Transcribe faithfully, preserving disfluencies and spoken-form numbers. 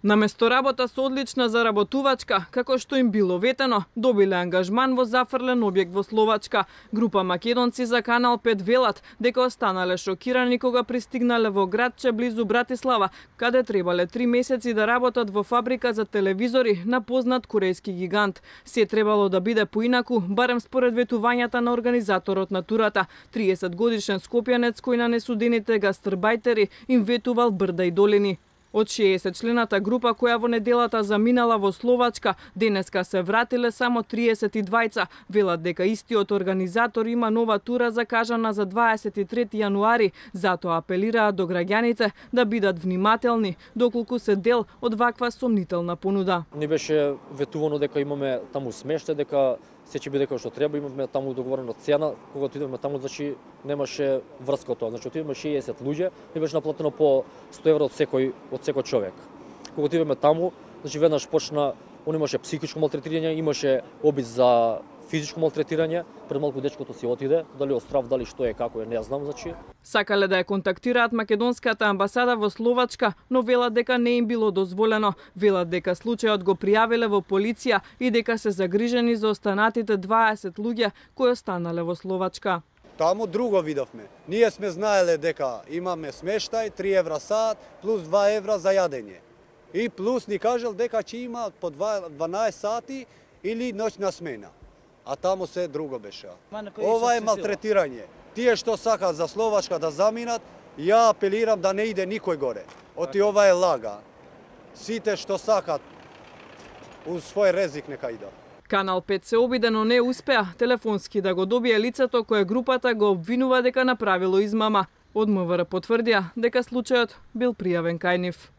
Наместо работа со одлична заработувачка, како што им било ветено, добиле ангажман во зафрлен објект во Словачка. Група македонци за Канал пет велат дека останале шокирани кога пристигнале во градче близу Братислава, каде требале три месеци да работат во фабрика за телевизори на познат корејски гигант. Се требало да биде поинаку, барем според ветувањата на организаторот на турата. триесет годишен скопјанец кој на несудените гастарбајтери им ветувал брда и долини. Од шеесет члената група која во неделата заминала во Словачка, денеска се вратиле само триесет и двајца. Велат дека истиот организатор има нова тура закажана за дваесет и трети јануари, затоа апелираат до граѓаните да бидат внимателни, доколку се дел од ваква сомнителна понуда. Не беше ветувано дека имаме таму смеште, дека се ќе биде како што треба, имаме таму договорено цена, кога отидеме таму, значи немаше врска од тоа. Значи отидеме шеесет луѓе и беше наплатено по сто евро од секој од секој човек. Кога отидеме таму, значи веднаш почна, он имаше психичко малтретирање, имаше обид за физичко малтретирање, пред малку дечкото си отиде, дали од страв, дали што е, како е, не знам, значи. Сакале да ја контактираат македонската амбасада во Словачка, но велат дека не им било дозволено. Велат дека случајот го пријавиле во полиција и дека се загрижени за останатите дваесет луѓе кои останале во Словачка. Таму друго видовме. Ние сме знаеле дека имаме смештај, три евра сат, плюс два евра за јадење. И плюс ни кажал дека ќе има по дванаесет сати или ноќна смена. А таму се друго беше. Ова е малтретирање. Тие што сакаат за Словачка да заминат, ја апелирам да не иде никој горе. Оти ова е лага. Сите што сакаат у свој резик нека идат. Канал пет се обиде, но не успеа телефонски да го добие лицето кое групата го обвинува дека направило измама. Од МВР потврдија дека случајот бил пријавен кај нив.